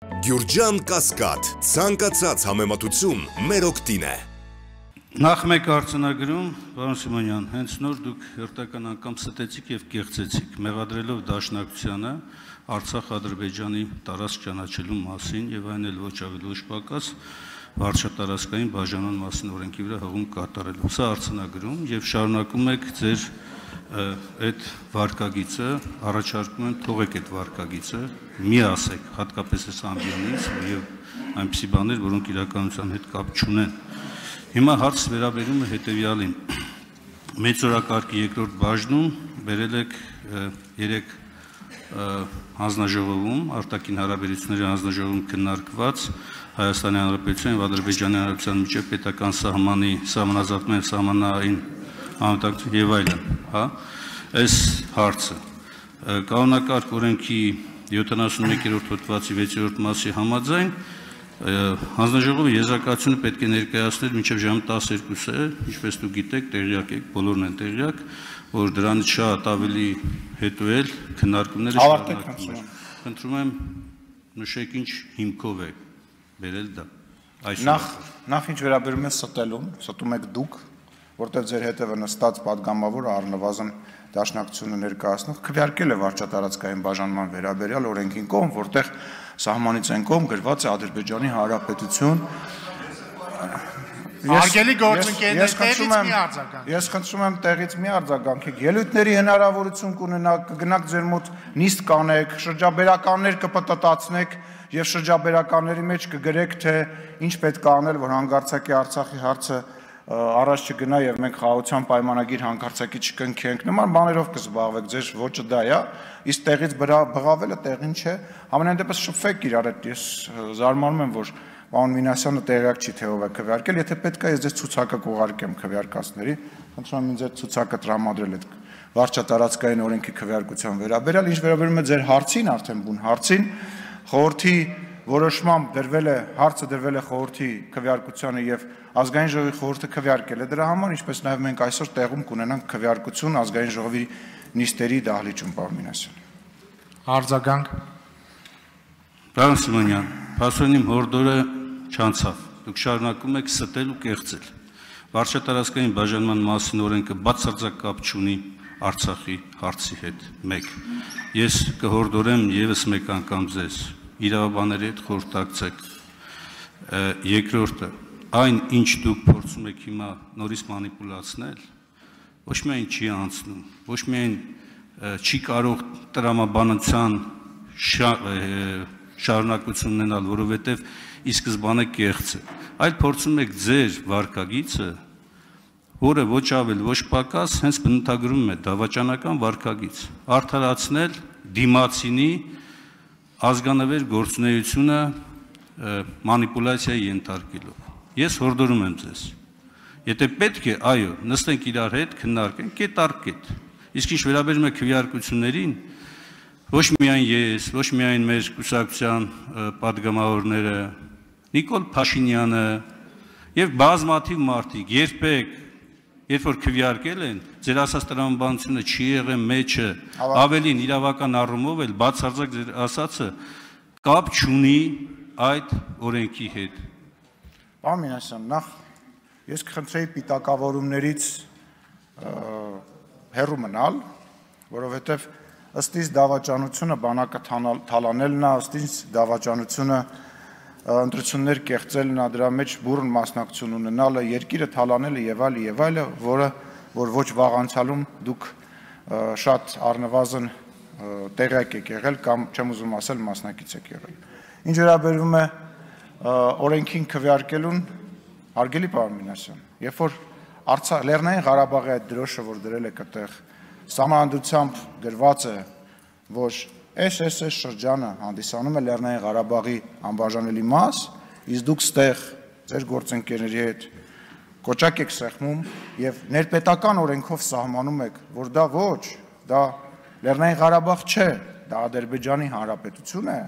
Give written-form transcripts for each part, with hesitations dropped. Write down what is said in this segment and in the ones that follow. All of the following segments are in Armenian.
Գյուրջան Կասկադ, ցանկացած համեմատություն մեր օգտին է։ Նախ մեկ արձանագրում, պարոն Սիմոնյան, հենց նոր դուք հերթական անգամ ստեցիք եւ կեղծեցիք, մեղադրելով Դաշնակցությանը Արցախ-Ադրբեջանի տարածք ճանաչելու մասին եւ այն էլ ոչ ավելի ոչ պակաս վարչատարածքային բաժանման մասին օրենքի վրա հղում կատարելու։ Սա արձանագրում եւ շարունակում եք ձեր այդ վարկագիծը, առաջարկում եմ թողեք այդ վարկագիծը, մի ասեք, հատկապես այս ամբիոնից եւ այնպիսի բաներ, որոնք իրականության հետ կապ չունեն։ Հիմա հարց վերաբերում է հետևյալին։ Մեծօրակարգի երկրորդ բաժնում բերել եք 3 հանձնաժողովում, արտաքին հարաբերությունների հանձնաժողովում քննարկված Հայաստանի Հանրապետության եւ Ադրբեջանի Հանրապետության միջև պետական սահմանի սահմանազատման սահմանային անվտանգություն եւ այլն, հա, այս հարցը կանոնակարգ օրենքի 71-րդ հոդվածի 6-րդ մասի համաձայն հանձնաժողովը եզրակացությունը պետք է ներկայացներ մինչև ժամը 12-ը, ինչպես դուք գիտեք, տեղյակ եք, բոլորն են տեղյակ, որ դրանից շատ ավելի հետո էլ քննարկումները շարունակվում են։ Խնդրում եմ նշեք ինչ հիմքով է բերել դա։ Նախ ինչ վերաբերում է ստելուն, ստում եք դուք, որտեղ ձեր հետևը նստած падգամավորը առնվազն Դաշնակցությունը ներկայացնող քվեարկել է վարչատարածքային բաժանման վերաբերյալ օրենքին կողմ, որտեղ սահմանից այն կողմ գրված է Ադրբեջանի Հանրապետություն։ Արգելի գործընկերներ, տեղից մի արձագանք։ Ես խնդրում եմ տեղից մի արձագանքեք։ Ելույթների հնարավորություն կունենաք, կգնաք ձեր մոտ նիստ կանեք, շրջաբերականներ կպտտացնեք եւ շրջաբերականների մեջ կգրեք, թե ինչ պետք է անել, որ հանգարցակի Արցախի հարցը առաջ չգնա եւ մենք խաղաղության պայմանագիր հանգարցակի չկնքենք, նման բաներով կզբաղվեք, ձեր ոճը դա է, իսկ տեղից բղավելը տեղին չէ, ամենայն դեպս շփվեք իրար հետ, ես զարմանում եմ, որ պարոն Մինասյանը տեղյակ չի թե ով է քվեարկել, եթե պետք է ես ձեզ ցուցակը կուղարկեմ քվեարկածների, խնդրում եմ ինձ այդ ցուցակը տրամադրել այդ վարչատարածքային օրենքի քվեարկության վերաբերյալ, ինչ վերաբերում է ձեր հարցին, արդեն բուն հարցին, խորհրդի որոշմամբ դրվել է հարցը դրվել է խորհրդի քվեարկությանը եւ ազգային ժողովի խորհուրդը քվեարկել է դրա համար, ինչպես նաեւ մենք այսօր տեղում կունենանք քվեարկություն ազգային ժողովի նիստերի դահլիճում, պարոն Մինասյան։ Արձագանք։ Պարոն Սիմոնյան, փաստորեն հորդորը չանցավ։ Դուք շարունակում եք ստել ու կեղծել։ Վարչատարածքային բաժանման մասին օրենքը բացարձակ կապ չունի Արցախի հարցի հետ։ 1. Ես կհորդորեմ եւս մեկ անգամ ձեզ իրավաբանների հետ խորհրդակցեք։ Երկրորդը, այն ինչ դուք փորձում եք հիմա նորից մանիպուլացնել, ոչ միայն չի անցնում, ոչ միայն չի կարող տրամաբանության շարունակություն ունենալ, որովհետև ի սկզբանե կեղծ է, այլ փորձում եք ձեր վարկագիծը, որը ոչ ավել, ոչ պակաս, հենց բնութագրում է դավաճանական վարկագիծ, արդարացնել դիմացինի ազգանվեր գործունեությունը մանիպուլյացիայի ենթարկելով։ Ես հորդորում եմ ձեզ, եթե պետք է, այո, նստենք իրար հետ, քննարկենք, կետ առ կետ, իսկ ինչ վերաբերում է քվեարկություններին, ոչ միայն ես, ոչ միայն մեր կուսակցության պատգամավորները, Նիկոլ Փաշինյանը եւ բազմաթիվ մարդիկ երբեք, երբ որ քվեարկել են, ձեր ասած տրամաբանությունը չի եղել մեջը, ավելին իրավական առումով էլ բացարձակ ձեր ասածը կապ չունի այդ օրենքի հետ։ Պարոն Մինասյան, նախ ես կխնդրեի պիտակավորումներից հեռու մնալ, որովհետև ըստ իս դավաճանությունը բանակը թալանելն է, ըստ իս դավաճանությունը ընտրություններ կեղծելն է, դրա մեջ բուռն մասնակցություն ունենալը, երկիրը թալանելը եւ այլը, որ ոչ վաղ անցյալում դուք շատ առնվազն տեղյակ եք եղել կամ չեմ ուզում ասել մասնակից եք եղել։ Ինչ վերաբերում է օրենքին քվեարկելուն, հարգելի պարոն Մինասյան, երբ որ Լեռնային Ղարաբաղի այդ դրոշը, որ դրել եք այդտեղ, սահմանադրությամբ գրված է, որ այս շրջանը հանդիսանում է Լեռնային Ղարաբաղի անբաժանելի մաս, իսկ դուք ստեղ ձեր գործընկերների հետ կոճակ եք սեղմում եւ ներպետական օրենքով սահմանում եք, որ դա ոչ, դա Լեռնային Ղարաբաղ չէ, դա Ադրբեջանի Հանրապետություն է,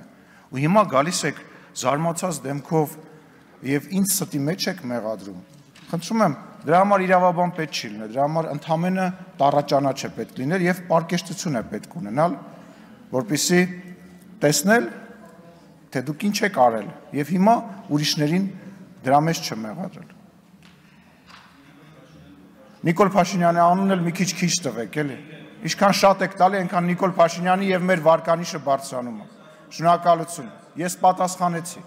ու հիմա գալիս եք զարմացած դեմքով եւ ինձ ստի մեջ եք մեղադրում։ Խնդրում եմ, դրա համար իրավաբան պետք չի լինել, դրա համար ընդամենը տառաճանաչ է պետք լինել եւ պարկեշտություն է պետք ունենալ, որպեսզի տեսնել թե դուք ինչ եք արել եւ հիմա ուրիշներին դրա մեջ չմեղադրել։ Նիկոլ Փաշինյանի անունն էլ մի քիչ տվեք, էլի։ Ինչքան շատ եք տալի, այնքան Նիկոլ Փաշինյանի եւ մեր վարկանիշը բարձրանում է։ Շնորհակալություն։ Ես պատասխանեցի։